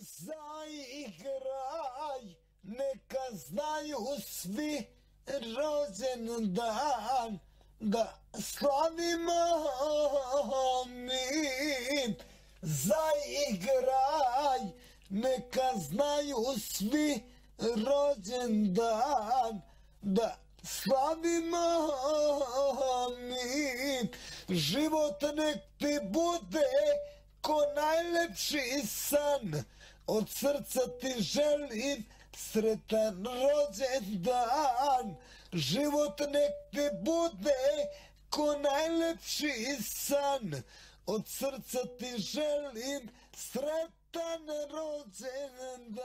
Zaigraj, neka znaju svi rođendan da slavimo mi. Zaigraj, neka znaju svi rođendan da slavimo mi. Život nek ti bude ko najlepši san, od srca ti želim sretan rođendan. Život nek ti bude ko najlepši san, od srca ti želim sretan rođendan.